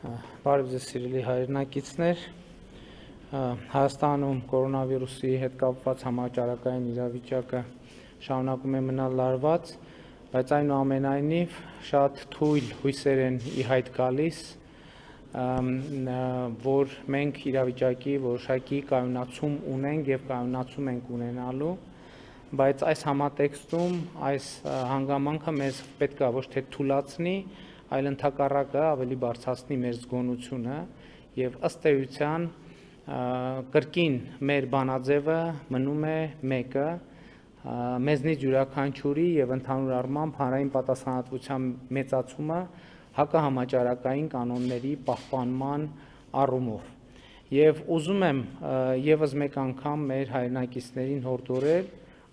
Բարև ձեզ սիրելի հայրենակիցներ, Հայաստանում կորոնավիրուսի հետ կապված համաճարակային իրավիճակը շարունակում է մնալ լարված, բայց այնուամենայնիվ շատ թույլ հույսեր են ի հայտ գալիս, որ մենք իրավիճակի որոշակի կայունացում ունենք եւ կայունացում ենք ունենալու, բայց այս համատեքստում այս հանգամանքը մեզ պետք է ոչ թե թուլացնի, այլ ընդհակառակը ավելի բարձրացնի մեր զգոնությունը եւ ըստ էության կրկին մեր բանաձևը մնում է մեկը մեզնից յուրաքանչյուրի եւ ընդհանուր առմամբ հանրային պատասխանատվության մեծացումը հակահամաճարակային կանոնների պահպանման առումով եւ ուզում եմ եւս մեկ անգամ մեր հայրենակիցներին հորդորել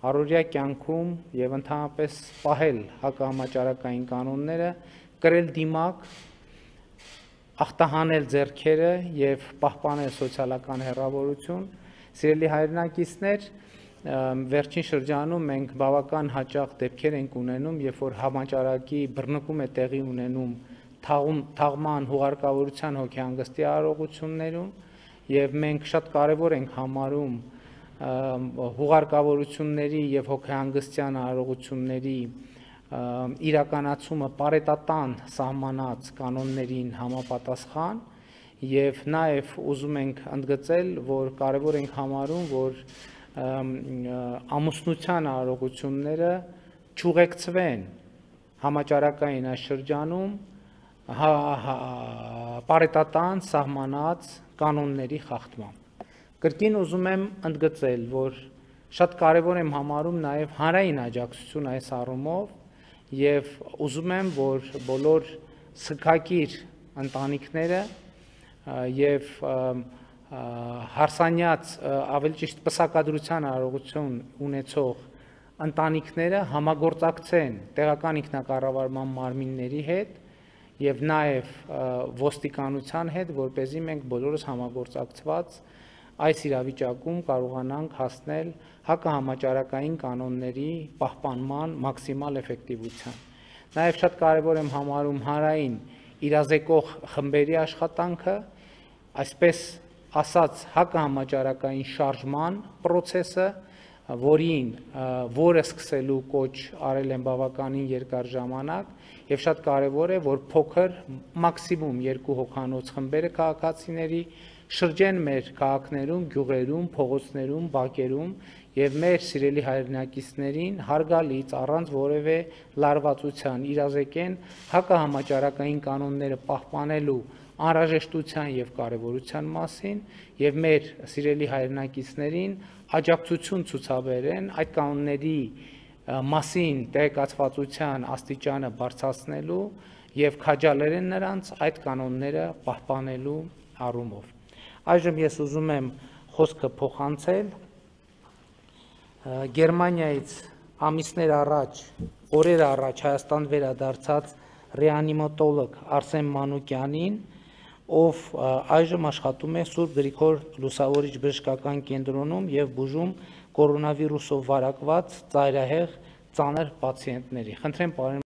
առօրյա կյանքում եւ ընդհանրապես պահել հակահամաճարակային կանոնները կրել դիմակ, ախտահանել ձեռքերը եւ պահպանել սոցիալական հեռավորություն։ Սիրելի հայրենակիցներ, վերջին շրջանում մենք բավական հաճախ դեպքեր ենք ունենում, երբ որ համաճարակի բռնկում է տեղի ունենում թաղման հուղարկավորության հոգեհանգստի արարողություններում եւ մենք շատ կարեւոր ենք համարում հուղարկավորությունների եւ հոգեհանգստյան արարողությունների իրականացումը պարետատան սահմանած կանոններին համապատասխան եւ նաեւ ուզում ենք ընդգծել, որ կարեւոր ենք համարում, որ ամուսնության արարողությունները չուղեկցվեն համաճարակային այս շրջանում պարետատան սահմանած կանոնների խախտմամբ։ Կրկին ուզում եմ ընդգծել, որ շատ կարեւոր եմ համարում նաեւ հանրային աջակցություն այս առումով եւ ուզում եմ, որ բոլոր սգակիր ընտանիքները եւ հարսանյաց ավելի ճիշտ պսակադրության արարողություն ունեցող ընտանիքները համագործակցեն տեղական ինքնակառավարման մարմինների հետ եւ նաեւ ոստիկանության հետ, որպեսզի մենք բոլորս համագործակցված այս իրավիճակում կարողանանք հասնել հակահամաճարակային կանոնների պահպանման մաքսիմալ էֆեկտիվության։ Նաև շատ կարևոր եմ համարում հանրային իրազեկող խմբերի աշխատանքը, այսպես ասած հակահամաճարակային շարժման process-ը, որը սկսելու կոչ արել են բավականին երկար ժամանակ եւ շատ կարեւոր է, որ փոքր մաքսիմում 2 հոգանոց խմբերը քաղաքացիների շրջեն մեր քաղաքներում, գյուղերում, փողոցներում, բակերում եւ մեր սիրելի հայրենակիցներին հարգալից առանց որևէ լարվածության իրազեկեն հակահամաճարակային կանոնները պահպանելու անհրաժեշտության եւ կարեւորության մասին եւ մեր սիրելի հայրենակիցներին աջակցություն ցուցաբերեն այդ կանոնների մասին տեղեկացվածության աստիճանը բարձրացնելու եւ քաջալերեն նրանց այդ կանոնները պահպանելու առումով։ Այժմ ես ուզում եմ խոսքը փոխանցել Գերմանիայից ամիսներ առաջ, օրեր առաջ Հայաստան վերադարձած ռեանիմատոլոգ Արսեն Մանուկյանին, ով այժմ աշխատում է Սուրբ Գրիգոր Լուսավորիչ բժշկական կենտրոնում եւ բուժում կորոնավիրուսով վարակված ծայրահեղ ծանր պացիենտների։ Խնդրեմ